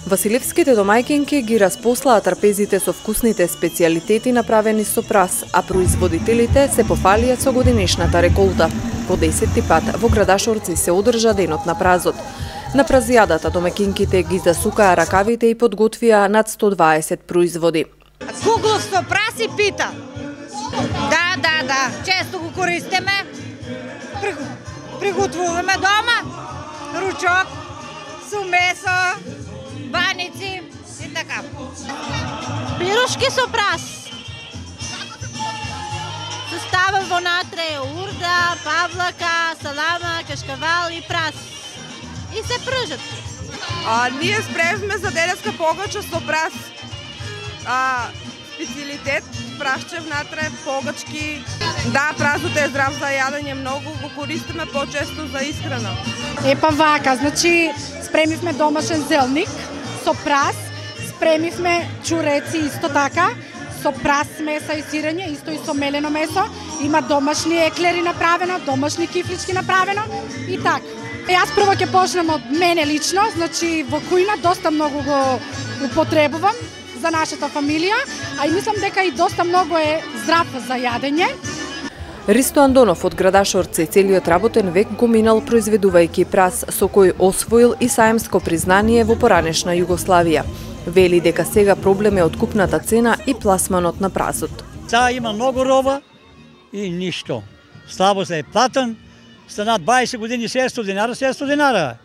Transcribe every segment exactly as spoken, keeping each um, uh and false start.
Василевските домајќинки ги распослаа трпезите со вкусните специјалитети направени со прас, а производителите се пофалија со годинешната реколта. По десетти пат во Градашорци се одржа денот на празот. На празијадата домаќинките ги засукаа ракавите и подготвија над сто дваесет производи. Куглов со прас и пита. Да, да, да, често го користиме. Приготвуваме дома. Ручок со месо, баници и така. Пирушки со прас. Се става вонатре урда, павлака, салама, кашкавал и прас. И се пржат. А, ние спремивме за денеска погача со прас. А, специјалитет, прашче внатре, погачки. Да, празот е здрав за јадење, многу го користиме почесто за исхрана. Епа вака, значи спремивме домашен зелник со прас, спремивме чуреци исто така, со прас меса и сирење, исто и со мелено месо, има домашни еклери направено, домашни кифлички направено и така. Јас прво ќе почнем од мене лично, значи во кујна доста многу го употребувам за нашата фамилија, а и мислам дека и доста многу е здрав за јадење. Ристо Андонов од Градашорци целиот работен век го минал произведувајќи прас, со кој освоил и саемско признание во поранешна Југославија. Вели дека сега проблем е откупната цена и пласманот на прасот. Сега има многу роба и ништо. Слабо се е платен, стана дваесет години седумстотини динара, седумстотини динара.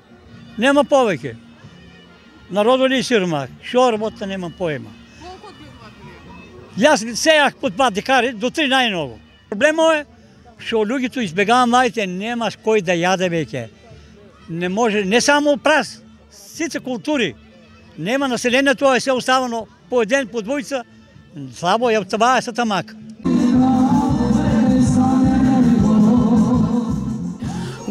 Нема повеќе. Народот ли сиромах, шо работа немам поема. Колку одбивувате? Јас сејах под пат декари, до три најмногу. Проблемот е што луѓето избегаат младите, немаш кој да јаде веќе. Не може, не само прас, сите култури. Нема населението, е се оставено по еден, по двојца, слабо ја това е са тамак.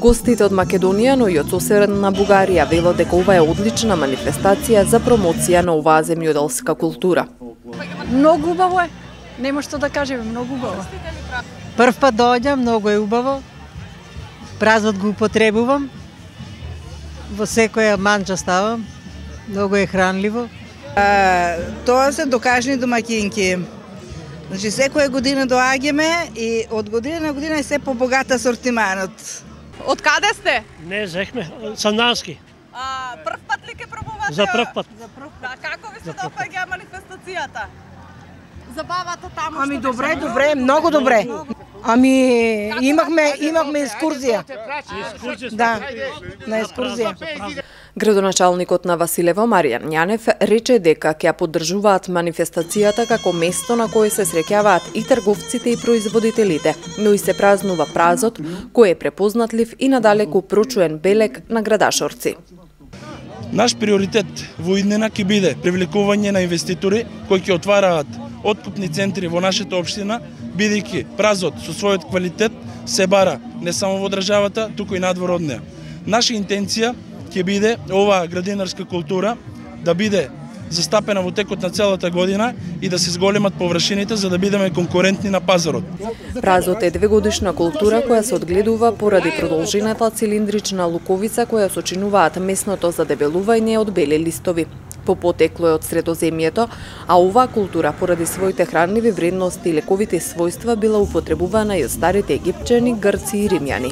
Гостите од Македонија, но и од соседна Бугарија велат дека ова е одлична манифестација за промоција на оваа земјоделска култура. Многу убаво е, нема што да кажеме, многу убаво. Прв пат доаѓам, многу е убаво. Празот го употребувам. Во секоја манџа ставам. Многу е хранливо. А, тоа се докажни домаќинки. Значи секоја година доаѓаме и од година на година е се побогат асортиманот. Од каде сте? Не, зехме, Сандански. А, прв пат ли ке пробувате? За прв пат. Да, како ви се допаѓа манифестацијата? Забавата таму Ами што добре, беше? добре, многу добре. Ами имахме имахме екскурзија. Да, на екскурзија. Градоначалникот на Василево Маријан Јанев рече дека ќе ја поддржуваат манифестацијата како место на кое се среќаваат и трговците и производителите, но и се празнува празот кој е препознатлив и надалеку прочуен белег на Градашорци. Наш приоритет во иднина ќе биде привлекување на инвеститори кои ќе отвараат откупни центри во нашата општина, бидејќи празот со својот квалитет се бара не само во државата, туку и надвор од неа. Наша интенција ќе биде оваа градинарска култура да биде застапена во текот на целата година и да се зголемат површините за да бидеме конкурентни на пазарот. Празот е двегодишна култура која се одгледува поради продолжената цилиндрична луковица која сочинуваат месното задебелување од бели листови. По потекло е од Средоземјето, а оваа култура поради своите хранливи вредности и лековите својства била употребувана и од старите египчани, грци и римјани.